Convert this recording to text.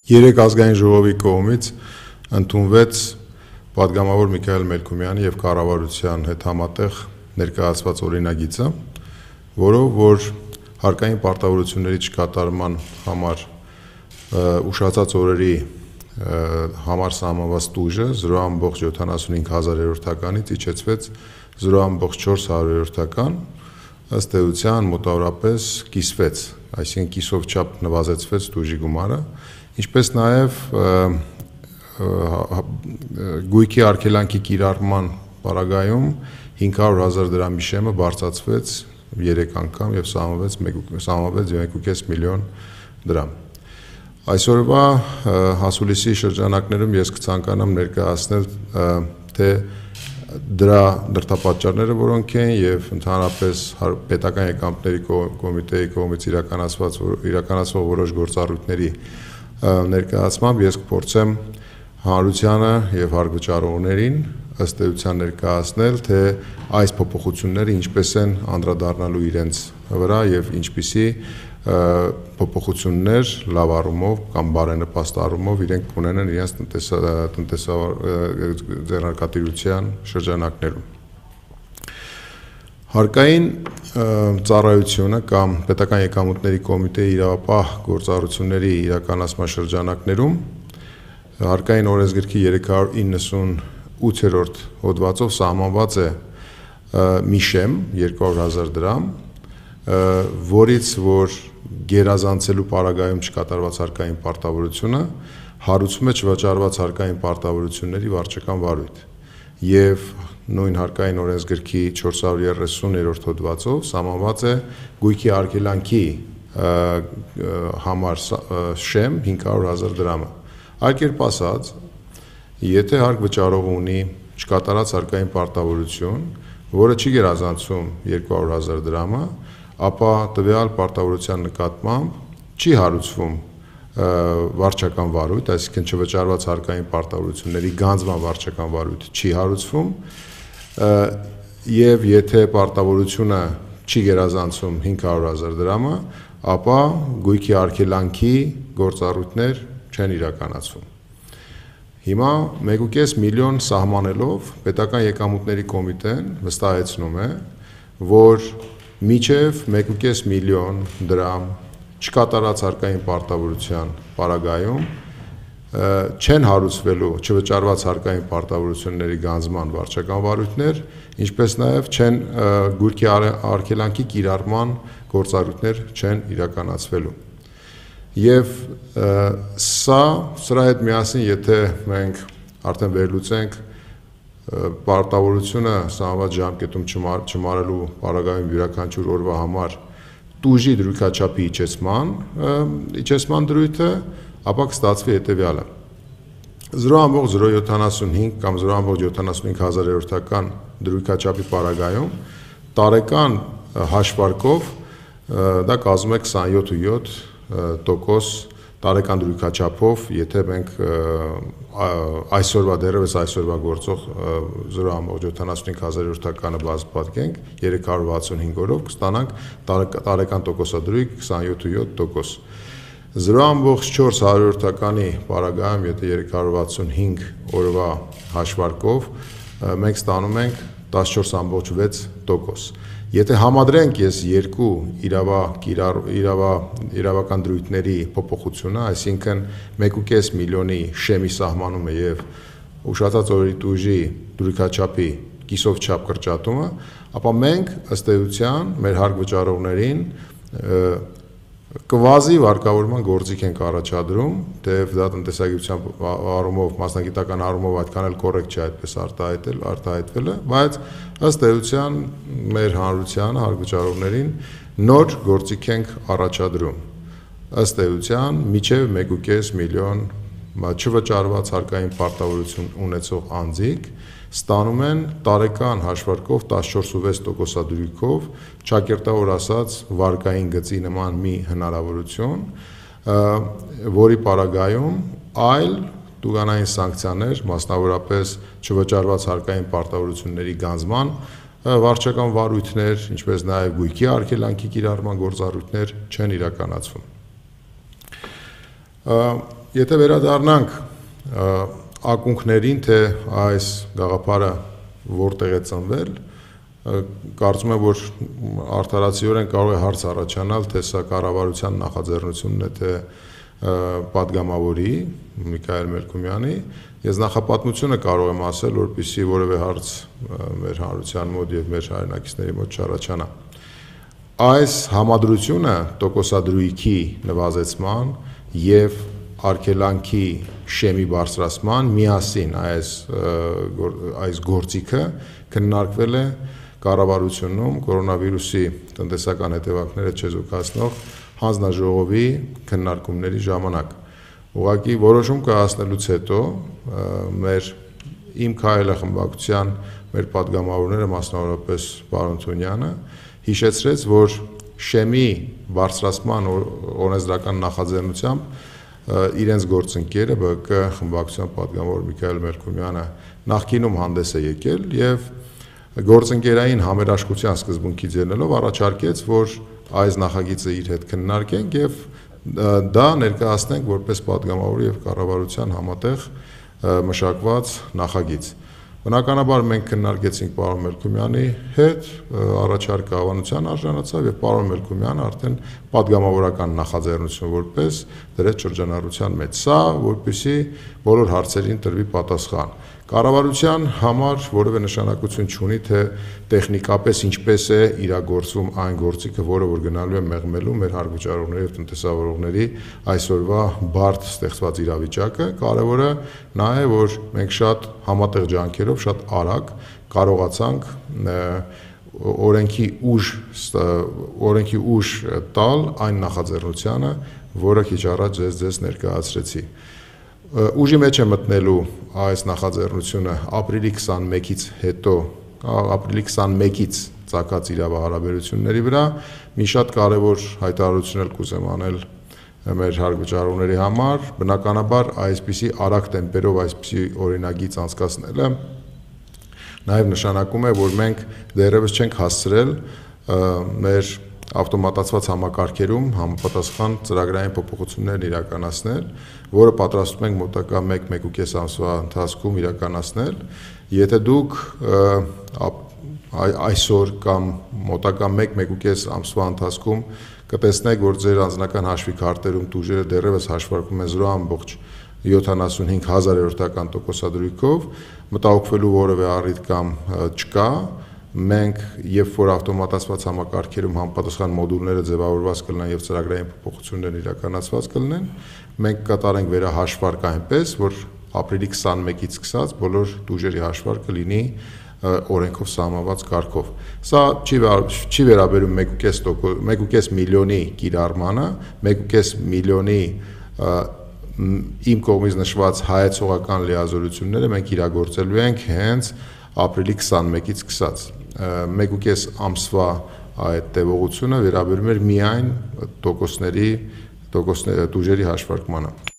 Երեք ազգային ժողովի կողմից ընդունվեց պատգամավոր Միքայել Մելքումյանի եւ կառավարության հետ համատեղ ներկայացված օրինագիծը, որով որ հարկային պարտավորությունների չկատարման համար ուշացած օրերի համար սահմանված տուժը 0.75 իջեցվեց 0.4 ըստ էության մոտավորապես կիսվեց, այսինքն կիսով չափ նվազեցվեց տուժի գումարը, ինչպես նաև գույքի արգելանքի կիրառման պարագայում 500,000 դրամի շեմը բարձրացվեց 3 անգամ եւ սահմանվեց 1.5 միլիոն դրամ։ Այսօրվա հասուլիսի շրջանակներում ես կցանկանամ ներկայացնել թե դրա դրդապատճառները որոնք են եւ ընդհանրապես պետական եկամուտների կոմիտեի կողմից իրականացվող որոշ գործառույթների ներկայացմամբ ես կփորձեմ հանրությանը եւ հարգվճարողներին ըստ էության ներկայացնել թե այս փոփոխությունները ինչպես են անդրադառնալու իրենց վրա եւ ինչպիսի փոփոխություններ լավ առումով կամ բարենպաստ առումով իրենք կունենան իրենց ձեռնարկատիրության շրջանակներում։ Հարկային ծառայությունը կամ պետական եկամուտների կոմիտեի իրավապահ գործառույթների իրականացման շրջանակներում հարկային օրենսգրքի 398-րդ հոդվածով սահմանված է մի շեմ 200,000 դրամ, որից որ գերազանցելու պարագայում չկատարված հարկային պարտավորությունը հարուցվում է չվճարված հարկային պարտավորությունների վարչական վարույթ եւ նույն հարկային օրենսգրքի 430-րդ հոդվածով սահմանված է գույքի արգելանքի համար շեմ 500,000 դրամը։ Այլ կերպ ասած, եթե հարկ վճարողը ունի չկատարած հարկային պարտավորություն, որը չի գերազանցում 200,000 դրամը, ապա տվյալ պարտավորության նկատմամբ չի հարուցվում վարչական վարույթ, այսինքն չվճարված հարկային պարտավորությունների գանձման վարչական վարույթ չի հարուցվում, եւ եթե պարտավորությունը չի գերազանցում 500,000 դրամը, ապա գույքի արգելանքի գործառույթներ չեն իրականացվում։ Հիմա 1.5 միլիոն սահմանելով պետական եկամուտների կոմիտեն վստահեցնում է, որ մինչև 1.5 միլիոն դրամ չկատարած հարկային պարտավորության պարագայում չեն հարուցվելու չվճարված հարկային պարտավորությունների գանձման վարչական վարույթներ, ինչպես նաև չեն գույքի արգելանքի կիրառման գործառույթներ չեն իրականացվելու։ Եվ սրա հետ միասին, եթե մենք արդեն վերլուծենք պարտավորությունը սահմանված ժամկետում չմարելու պարագայում յուրաքանչյուր օրվա համար տուժի դրույքաչափի իջեցման դրույթը, ապա կստացվի հետևյալը. 0.075 կամ 0.75 դրույքաչափի պարագայում տարեկան հաշվարկով դա կազմում է 27.7% տարեկան դրույքաչափով, եթե մենք դեռևս այսօրվա գործող 0.75 բացատենք 365 օրով կստանանք տարեկան տոկոսադրույք 27.7%։ 0.4 պարագայում, եթե 365 օրվա հաշվարկով մենք ստանում ենք 14.6%։ Եթե համադրենք ես երկու իրավական դրույթների փոփոխությունը, այսինքն 1.5 միլիոնի շեմի սահմանումը եւ ուշացած օրերի տուժի դրույքաչափի կիսով չափ կրճատումը, ապա մենք ըստ էության մեր հարկ վճարողներին կվազի վարկավորման գործիք ենք առաջադրում, թեև դա տնտեսագիտության առումով, մասնագիտական առումով այդքան էլ կոռեկտ չէ այդպես արտահայտվելը, բայց ըստ էության մեր հանրությանը, հարկ վճարողներին նոր գործիք ենք առաջադրում։ Ըստ էության մինչև 1.5 միլիոն չվճարված հարկային պարտավորություն ունեցող անձիկ ստանում են տարեկան հաշվարկով 14.6% դրույքով, ճակերտավոր ասած վարկային գծի նման մի հնարավորություն, որի պարագայում այլ տուգանային սանկցիաներ, մասնավորապես չվճարված հարկային պարտավորությունների գանձման վարչական վարույթներ, ինչպես նաև գույքի արգելանքի կիրառման գործառույթներ չեն իրականացվում։ Եթե վերադառնանք ակունքներին, թե այս գաղափարը որտեղ է ծնվել, կարծում եմ, որ արդարացիորեն կարող է հարց առաջանալ, թե սա կառավարության նախաձեռնությունն է, թե պատգամավորի Միքայել Մելքումյանի։ Ես նախապատմությունը կարող եմ ասել, որպեսզի որևէ հարց մեր հանրության մոտ եւ մեր հայրենակիցների մոտ չառաջանա։ Այս համադրությունը տոկոսադրույքի նվազեցման եւ արգելանքի շեմի բարձրացման միասին այս գործիքը քննարկվել է կառավարությունում կորոնավիրուսի տնտեսական հետևանքները չեզոքացնող հանձնաժողովի քննարկումների ժամանակ։ Ուղղակի որոշում կայացնելուց հետո իմ քայլը խմբակցության մեր պատգամավորները, մասնավորապես պարոն Թունյանը, հիշեցրեց, որ շեմի բարձրացման օրենսդրական նախաձեռնությամբ իրենց գործընկերը ԲԿ խմբակցության պատգամավոր Միքայել Մելքումյանը նախկինում հանդես է եկել եւ գործընկերային համերաշխության սկզբունքից ելնելով առաջարկեց, որ այս նախագիծը իր հետ քննարկենք եւ դա ներկայացնենք որպես պատգամավոր եւ կառավարության համատեղ մշակված նախագիծ։ Բնականաբար մենք քննարկեցինք պարոն Մելքումյանի հետ, առաջարկը հավանության արժանացավ եւ պարոն Մելքումյանը արդեն պատգամավորական նախաձեռնություն որպես դրեց շրջանառության մեջ։ Սա որպեսզի բոլոր հարցերին տրվի պատասխան։ Կառավարության համար որևէ նշանակություն չունի, թե տեխնիկապես ինչպես է իրագործվում այն գործիքը, որը որ գնալու է մեղմելու մեր հարկվճարողների եւ տնտեսավարողների այսօրվա բարդ ստեղծված իրավիճակը։ Կարևորը նա է, որ մենք շատ համատեղ ջանքերով շատ արագ կարողացանք օրենքի ուժ տալ այն նախաձեռնությանը, որը քիչ առաջ ձեզ ներկայացրեցի։ Ուժի մեջ է մտնելու այս նախաձեռնությունը ապրիլի 21-ից հետո, ապրիլի 21-ից ծագած իրավահարաբերությունների վրա մի շատ կարևոր հայտարարություն էլ կուզեմ անել մեր հարկվճարողների համար, բնականաբար այսպիսի արագ տեմպերով այսպիսի օրինագիծ անցկացնելը նաև նշանակում է, որ մենք դեռևս չենք հասցրել մեր ավտոմատացված համակարգերում համապատասխան ծրագրային փոփոխություններ իրականացնել, որը պատրաստում ենք մոտակա 1-1.5 ամսվա ընթացքում իրականացնել։ Եթե դուք այսօր կամ մոտակա 1-1.5 ամսվա ընթացքում կտեսնեք, որ ձեր անձնական հաշվի քարտերում տուժերը դեռևս հաշվարկվում են 0.75 տոկոսադրույքով, մտահոգվելու որևէ առիթ կամ չկա։ Մենք, երբ որ ավտոմատացված համակարգերում համապատասխան մոդուլները ձևավորված կլինեն եւ ծրագրային փոփոխություններ իրականացված կլինեն, մենք կատարենք վերահաշվարկ այնպես, որ ապրիլի 21-ից սկսած բոլոր տուժերի հաշվարկը լինի օրենքով սահմանված կարգով։ Սա չի վերաբերում 1.5 միլիոնի կիրառմանը, 1.5 միլիոնի իմ կողմից նշված հայեցողական լիազորությունները մենք իրագործելու ենք հենց ապրիլի 21-ից սկսած։ 1.5 ամսվա այդ տևողությունը վերաբերում էր միայն տուժերի հաշվարկմանը։